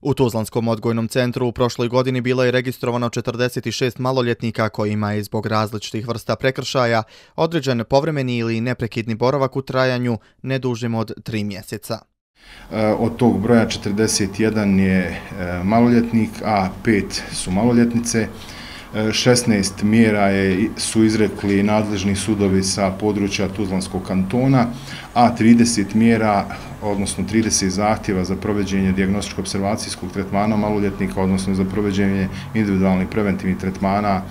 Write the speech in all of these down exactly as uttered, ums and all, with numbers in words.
U Tuzlanskom odgojnom centru u prošloj godini bilo je registrovano četrdeset šest maloljetnika kojima je zbog različitih vrsta prekršaja određen povremeni ili neprekidni boravak u trajanju ne dužim od tri mjeseca. Od tog broja četrdeset jedan je maloljetnik, a pet su maloljetnice. šesnaest mjera je, su izrekli nadležni sudovi sa područja Tuzlanskog kantona, a trideset mjera, odnosno trideset zahtjeva za provođenje dijagnostičko-observacijskog tretmana maloljetnika, odnosno za provođenje individualnih preventivnih tretmana,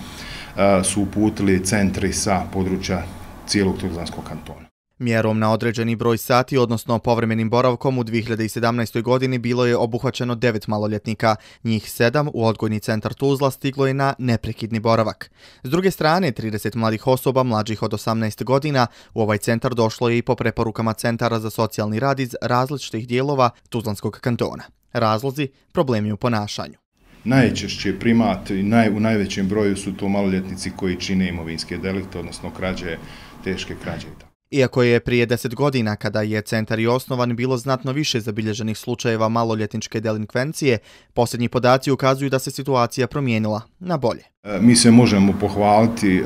su uputili centri sa područja cijelog Tuzlanskog kantona. Mjerom na određeni broj sati, odnosno povremenim boravkom u dvije hiljade sedamnaestoj. godini bilo je obuhvaćeno devet maloljetnika. Njih sedam u odgojni centar Tuzla stiglo je na neprekidni boravak. S druge strane, trideset mladih osoba mlađih od osamnaest godina u ovaj centar došlo je i po preporukama centara za socijalni rad iz različitih dijelova Tuzlanskog kantona. Razlozi, problemi u ponašanju. Najčešće primat i naj, u najvećem broju su to maloljetnici koji čine imovinske delikte, odnosno krađe, teške krađe. Iako je prije deset godina, kada je centar i osnovan, bilo znatno više zabilježenih slučajeva maloljetničke delinkvencije, posljednji podaci ukazuju da se situacija promijenila na bolje. Mi se možemo pohvaliti e,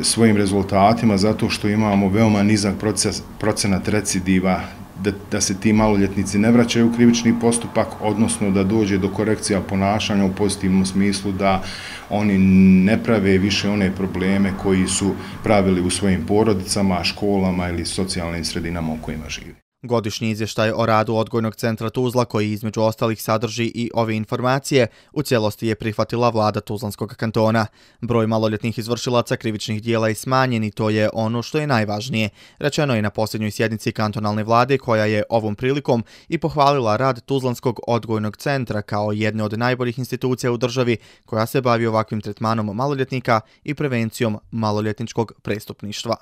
svojim rezultatima zato što imamo veoma nizak proces, procenat recidiva, da, da se ti maloljetnici ne vraćaju u krivični postupak, odnosno da dođe do korekcija ponašanja u pozitivnom smislu, da oni ne prave više one probleme koji su pravili u svojim porodicama, školama ili socijalnim sredinama u kojima živi. Godišnji izvještaj o radu odgojnog centra Tuzla, koji između ostalih sadrži i ove informacije, u cijelosti je prihvatila vlada Tuzlanskog kantona. Broj maloljetnih izvršilaca krivičnih dijela je smanjen i to je ono što je najvažnije. Rečeno je na posljednjoj sjednici kantonalne vlade, koja je ovom prilikom i pohvalila rad Tuzlanskog odgojnog centra kao jedne od najboljih institucija u državi koja se bavi ovakvim tretmanom maloljetnika i prevencijom maloljetničkog prestupništva.